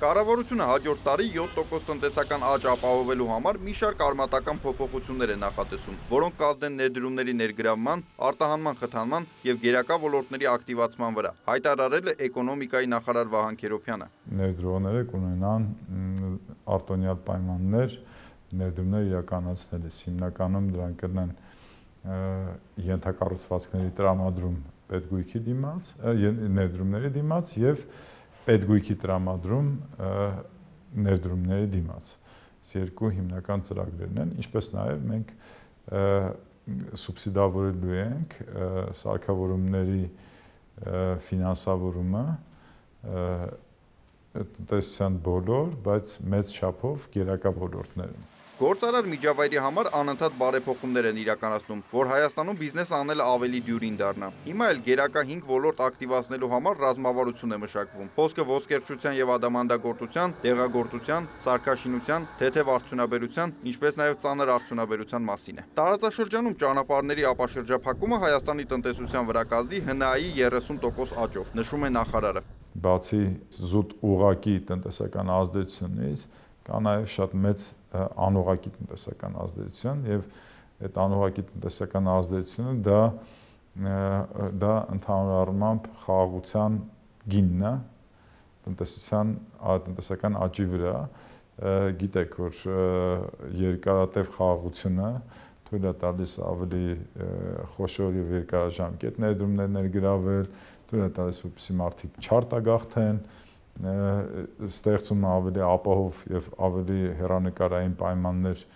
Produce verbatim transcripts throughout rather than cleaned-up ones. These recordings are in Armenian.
Կառավարությունը հաջորդ տարի յոթ տոկոս տնտեսական աճ ապահովելու համար մի շարք արմատական փոփոխություններ է նախատեսում, որոնք կազդեն ներդրումների ներգրավման, արտահանման խթանման եւ գերակա ոլորտների ակտիվացման վրա, հայտարարել է էկոնոմիկայի նախարար Վահան Քերոբյանը։ Ներդրողները կունենան արտոնյալ պայմաններ ներդրումներ իրականացնելիս, հիմնականում դրանք կլինեն ենթակառուցվածքների տրամադրում պետգույքի դիմաց, ներդրումների դիմաց եւ պետգույքի տրամադրում ներդրումների դիմաց։ Այս երկու հիմնական ծրագրերն են, ինչպես նաև մենք սուբսիդավորելու ենք սարքավորումների ֆինանսավորումը տնտեսության բոլոր, բայց մեծ չափով գերակա ոլորտներում։ Գործարար միջավայրի համար անընդհատ բարեփոխումներ են իրականացնում, որ Հայաստանում բիզնես անելը ավելի դյուրին դառնա։ Հիմա էլ գերակա հինգ ոլորտ ակտիվացնելու համար ռազմավարություն է մշակվում։ Խոսքը ոսկերչության եւ ադամանդագործության, դեղագործության, սարքաշինության, թեթև արդյունաբերության, ինչպես նաեւ ծանր արդյունաբերության մասին է։ Տարածաշրջանում ճանապարհների ապաշրջափակումը Հայաստանի տնտեսության վրա կազդի Հ Ն A-ի երեսուն տոկոս աճով, նշում է նախարարը։ Բացի զուտ ուղղակի տնտեսական ազդեցությունից, կա նաև շատ մեծ անուղղակի տնտեսական ազդեցություն եւ այդ անուղղակի տնտեսական ազդեցությունը դա դա ընդհանուր առմամբ խաղաղության գինն է տնտեսության տնտեսական աճի վրա գիտեք որ երկարատև խաղաղությունը թույլ է տալիս ավելի խոշոր եւ երկարաժամկետ ներդրումներ ներգրավել, թույլ է տալիս որպեսզի մարդիկ չարտագաղթեն, ստեղծում ավելի ապահով եւ ավելի հեռանկարային պայմաններ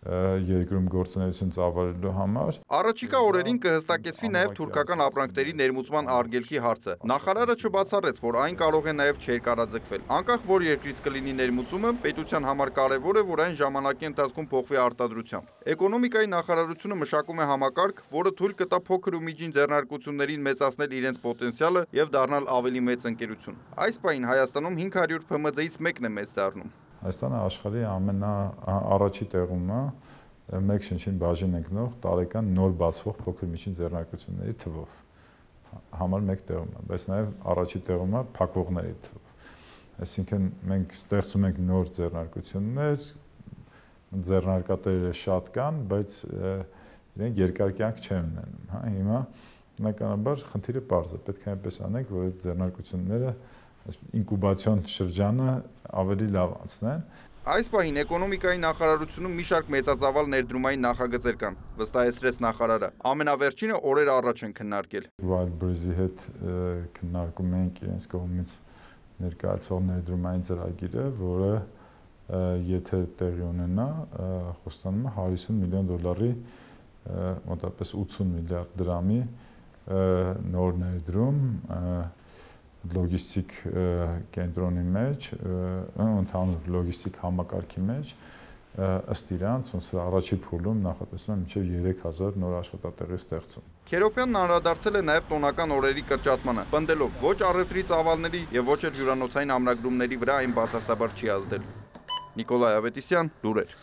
երկրում գործունեություն ծավալելու համար։ Առաջիկա օրերին կհստակեցվի նաև թուրքական ապրանքների ներմուծման արգելքի հարցը։ Նախարարը չբացառեց, որ այն կարող է նաև չերկարաձգվել։ Անկախ որ երկրից կլինի ներմուծումը, պետության համար կարևոր է, որ այն ժամանակի ընթացքում փոխվի արտադրությամբ։ Էկոնոմիկայի նախարարությունը մշակում է համակարգ, որը թույլ կտա փոքր ու միջին ձեռնարկություններին մեծացնել իրենց պոտենցիալը եւ դառնալ ավելի մեծ ընկերություն։ Այս պահին Հայաստանում հինգ հարյուր Փ M D-ից մեկն է մեծ դառնում։ Հայաստանը աշխարհի ամենաառաջի տեղում է մեկ շնչին բաժին ընկնող տարեկան նոր բացվող փոքր միջին ձեռնարկությունների թվով համար մեկ տեղում է, բայց նաև առաջի տեղում է փակվողների թվով։ Այսինքն մենք ստեղծում ենք նոր ձեռնարկություններ, ձեռնարկատերերը շատ կան, բայց իրենք երկար կյանք չեն ունենում, հա, հիմա բնականաբար խնդիրը պարզ է, պետք է այնպես անենք, որ այդ ձեռնարկությունները ինկուբացիոն շրջանը ավելի լավ անցնեն։ Այս պահին էկոնոմիկայի նախարարությունում մի շարք մեծածավալ ներդրումային նախագծեր կան, վստահեցրեց նախարարը։ Ամենավերջինը օրեր առաջ են քննարկել։ Wildberries-ի հետ քննարկում ենք իրենց կողմից ներկայացվող ներդրումային ծրագիրը, որը եթե տեղի ունենա, խոստանում է հարյուր միլիոն դոլարի, մոտավորապես ութսուն միլիարդ դրամի նոր ներդրում լոգիստիկ կենտրոնի մեջ, ընդհանուր լոգիստիկ համակարգի մեջ, ըստ իրանց, ոնց որ առաջի փուլում նախատեսվում է մինչև երեք հազար նոր աշխատատեղի ստեղծում։ Քերոբյանն անդրադարձել է նաև տոնական օրերի կրճատմանը, պնդելով ոչ առևտրի ծավալների եւ ոչ էլ հյուրանոցային ամրագրումների վրա այն բացասաբար չի ազդել։ Նիկոլայ Ավետիսյան, լուրեր։